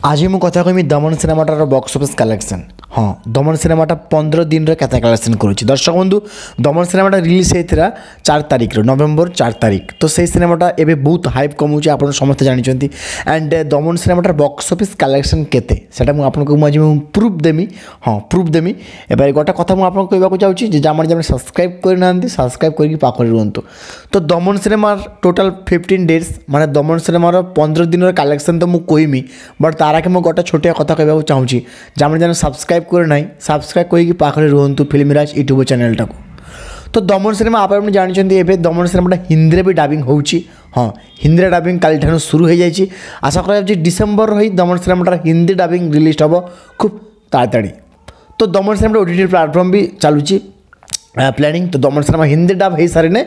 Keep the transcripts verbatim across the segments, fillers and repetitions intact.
ଆଜି ମୁଁ କଥା କହିବି ଦମନ ସିନେମାଟାର ବକ୍ସ ଅଫିସ୍ କଲେକ୍ସନ୍। ହଁ, ଦମନ ସିନେମାଟା ପନ୍ଦର ଦିନରେ କେତେ କଲେକ୍ସନ୍ କରୁଛି। ଦର୍ଶକ ବନ୍ଧୁ, ଦମନ ସିନେମାଟା ରିଲିଜ୍ ହେଇଥିଲା ଚାରି ତାରିଖରେ, ନଭେମ୍ବର ଚାରି ତାରିଖ। ତ ସେଇ ସିନେମାଟା ଏବେ ବହୁତ ହାଇପ୍ କମାଉଛି, ଆପଣ ସମସ୍ତେ ଜାଣିଛନ୍ତି। ଆଣ୍ଡ ଦମନ ସିନେମାଟାର ବକ୍ସ ଅଫିସ୍ କଲେକ୍ସନ୍ କେତେ, ସେଟା ମୁଁ ଆପଣଙ୍କୁ ମୁଁ ଆଜି ମୁଁ ପ୍ରୁଫ୍ ଦେମି। ହଁ, ପ୍ରୁଫ୍ ଦେମି। ଏবার ଗୋଟେ କଥା ମୁଁ ଆପଣଙ୍କୁ କହିବାକୁ ଚାହୁଁଛି ଯେ ଯେଉଁମାନେ ଯେଉଁମାନେ ସବସ୍କ୍ରାଇବ୍ କରିନାହାନ୍ତି, ସବସ୍କ୍ରାଇବ୍ କରିକି ପାଖରେ ରୁହନ୍ତୁ। ତ ଦମନ ସିନେମାର ଟୋଟାଲ୍ ଫିଫ୍ଟିନ୍ ଡେଜ୍, ମାନେ ଦମନ ସିନେମାର ପନ୍ଦର ଦିନର କଲେକ୍ସନ୍ ତ ମୁଁ କହିମି, ବଟ୍ ତାର ଆଗେ ମୁଁ ଗୋଟେ ଛୋଟିଆ କଥା କହିବାକୁ ଚାହୁଁଛି। ଯେଉଁମାନେ ଯେଉଁମାନେ ସବସ୍କ୍ରାଇବ୍ କରି ନାହିଁ, ସବସ୍କ୍ରାଇବ୍ କରିକି ପାଖରେ ରୁହନ୍ତୁ ଫିଲ୍ମରାଜ ୟୁଟ୍ୟୁବ୍ ଚ୍ୟାନେଲଟାକୁ। ତ ଦମନ ସିନେମା ଆପଣ ଜାଣିଛନ୍ତି, ଏବେ ଦମନ ସିନେମାଟା ହିନ୍ଦୀରେ ବି ଡାବିଂ ହେଉଛି। ହଁ, ହିନ୍ଦୀରେ ଡାବିଂ କାଲିଠାରୁ ଶୁରୁ ହୋଇଯାଇଛି। ଆଶା କରାଯାଉଛି ଡିସେମ୍ବର ହୋଇ ଦମନ ସିନେମାଟାର ହିନ୍ଦୀ ଡାବିଂ ରିଲିଜ୍ ହେବ ଖୁବ୍ ତାଡ଼ାତାଡ଼ି। ତ ଦମନ ସିନେମାଟା ଓ ଟି ଟି ପ୍ଲାଟଫର୍ମ ବି ଚାଲୁଛି ପ୍ଲାନିଂ। ତ ଦମନ ସିନେମା ହିନ୍ଦୀ ଡାବ୍ ହେଇସାରିନେ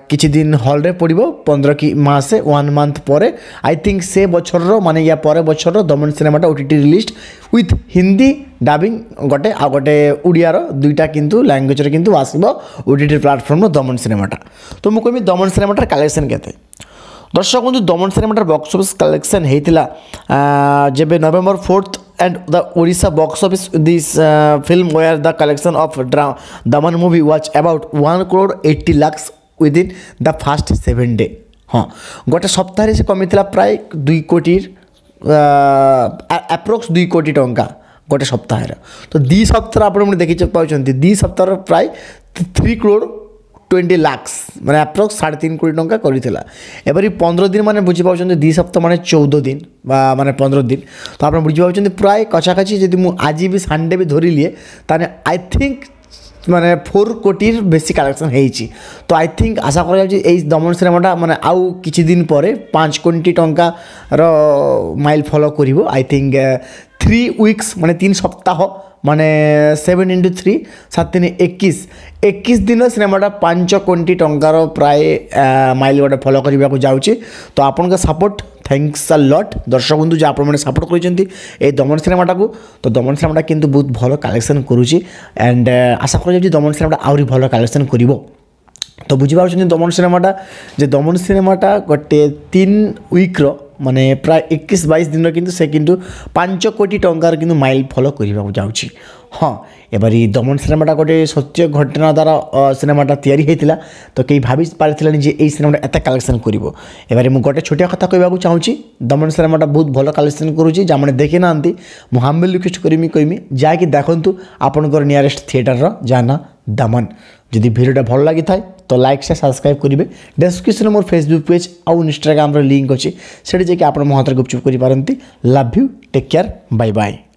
କିଛି ଦିନ ହଲ୍ରେ ପଡ଼ିବ, ପନ୍ଦର କି ମାସେ, ୱାନ୍ ମନ୍ଥ ପରେ। I think ସେ ବଛରର, ମାନେ ୟା ପରେ ବଛରର ଦମନ ସିନେମାଟା ଓ T T release with Hindi dubbing ଗୋଟେ ଆଉ ଗୋଟେ ଓଡ଼ିଆର, ଦୁଇଟା କିନ୍ତୁ ଲାଙ୍ଗୁଏଜରେ କିନ୍ତୁ ଆସିବ ଓ ଟି ଟି ପ୍ଲାଟଫର୍ମର ଦମନ ସିନେମାଟା। ତ ମୁଁ କହିବି ଦମନ ସିନେମାଟାର କଲେକ୍ସନ୍ କେତେ। ଦର୍ଶକ ବନ୍ଧୁ, ଦମନ ସିନେମାଟାର ବକ୍ସ ଅଫିସ୍ କଲେକ୍ସନ୍ ହେଇଥିଲା ଯେବେ November fourth, and the Odisha box office this uh, film where the collection of dra- Daman movie was about one crore eighty lakhs within the first seven day। ହଁ, ଗୋଟେ ସପ୍ତାହରେ ସେ କମିଥିଲା ପ୍ରାୟ ଦୁଇ କୋଟିର approx, ଦୁଇ କୋଟି ଟଙ୍କା ଗୋଟେ ସପ୍ତାହରେ। ତ ଦୁଇ ସପ୍ତାହରେ ଆପଣ ଦେଖି ପାଉଛନ୍ତି, ଦୁଇ ସପ୍ତାହର ପ୍ରାୟ ଥ୍ରୀ କ୍ରୋଡ଼ ଟ୍ୱେଣ୍ଟି ଲାକ୍ସ, ମାନେ ଆପ୍ରୋକ୍ସ ସାଢ଼େ ତିନି କୋଟି ଟଙ୍କା କରିଥିଲା। ଏପରି ପନ୍ଦର ଦିନ, ମାନେ ବୁଝିପାରୁଛନ୍ତି, ଦୁଇ ସପ୍ତାହ ମାନେ ଚଉଦ ଦିନ ବା ମାନେ ପନ୍ଦର ଦିନ। ତ ଆପଣ ବୁଝିପାରୁଛନ୍ତି, ପ୍ରାୟ କାଛାକାଛି ଯଦି ମୁଁ ଆଜି ବି ସଣ୍ଡେ ବି ଧରିଲିଏ, ତାହେଲେ I think ମାନେ ଫୋର୍ କୋଟିର ବେଶୀ କଲେକ୍ସନ୍ ହେଇଛି। ତ I think ଆଶା କରାଯାଉଛି ଏଇ ଦମନ ସିନେମାଟା ମାନେ ଆଉ କିଛି ଦିନ ପରେ ପାଞ୍ଚ କୋଟି ଟଙ୍କାର ମାଇଲ୍ ଫଲୋ କରିବ। I think three weeks, ମାନେ ତିନି ସପ୍ତାହ, ମାନେ ସେଭେନ୍ ଇଣ୍ଟୁ ଥ୍ରୀ, ସାତ ତିନି ଏକୋଇଶ, ଏକୋଇଶ ଦିନ ସିନେମାଟା ପାଞ୍ଚ କୋଟି ଟଙ୍କାର ପ୍ରାୟ ମାଇଲ୍ ଗୋଟେ ଫଲୋ କରିବାକୁ ଯାଉଛି। ତ ଆପଣଙ୍କ ସପୋର୍ଟ, thanks ଆ ଲଟ୍ ଦର୍ଶକ ବନ୍ଧୁ, ଯେ ଆପଣମାନେ ସପୋର୍ଟ କରିଛନ୍ତି ଏଇ ଦମନ ସିନେମାଟାକୁ। ତ ଦମନ ସିନେମାଟା କିନ୍ତୁ ବହୁତ ଭଲ କଲେକ୍ସନ୍ କରୁଛି, ଆଣ୍ଡ ଆଶା କରାଯାଉଛି ଦମନ ସିନେମାଟା ଆହୁରି ଭଲ କଲେକ୍ସନ୍ କରିବ। ତ ବୁଝିପାରୁଛନ୍ତି ଦମନ ସିନେମାଟା, ଯେ ଦମନ ସିନେମାଟା ଗୋଟେ ତିନି ୱିକ୍ର, ମାନେ ପ୍ରାୟ ଏକୋଇଶ ବାଇଶ ଦିନର, କିନ୍ତୁ ସେ କିନ୍ତୁ ପାଞ୍ଚ କୋଟି ଟଙ୍କାର କିନ୍ତୁ ମାଇଲ୍ ଫଲୋ କରିବାକୁ ଯାଉଛି। ହଁ, ଏବାର ଏଇ ଦମନ ସିନେମାଟା ଗୋଟେ ସତ୍ୟ ଘଟଣା ଦ୍ୱାରା ସିନେମାଟା ତିଆରି ହେଇଥିଲା। ତ କେହି ଭାବି ପାରିଥିଲାନି ଯେ ଏଇ ସିନେମାଟା ଏତେ କଲେକ୍ସନ୍ କରିବ। ଏବାରେ ମୁଁ ଗୋଟେ ଛୋଟିଆ କଥା କହିବାକୁ ଚାହୁଁଛି, ଦମନ ସିନେମାଟା ବହୁତ ଭଲ କଲେକ୍ସନ୍ କରୁଛି। ଯେଉଁମାନେ ଦେଖିନାହାନ୍ତି, ମୁଁ ହାମ୍ବଲ୍ ରିକ୍ୱେଷ୍ଟ କରିମି, କହିମି ଯାଇକି ଦେଖନ୍ତୁ ଆପଣଙ୍କର ନିୟରେଷ୍ଟ ଥିଏଟରର, ଯାହା ନା ଦମନ। ଯଦି ଭିଡ଼ିଓଟା ଭଲ ଲାଗିଥାଏ ତ ଲାଇକ୍, ସେୟାର, ସବସ୍କ୍ରାଇବ୍ କରିବେ। ଡେସ୍କ୍ରିପସନ୍ରେ ମୋର ଫେସବୁକ୍ ପେଜ୍ ଆଉ ଇନଷ୍ଟାଗ୍ରାମର ଲିଙ୍କ୍ ଅଛି, ସେଠି ଯାଇକି ଆପଣ ମୋ ହାତରେ ଗୁପଚୁପ୍ କରିପାରନ୍ତି। Love you, take care, bye bye.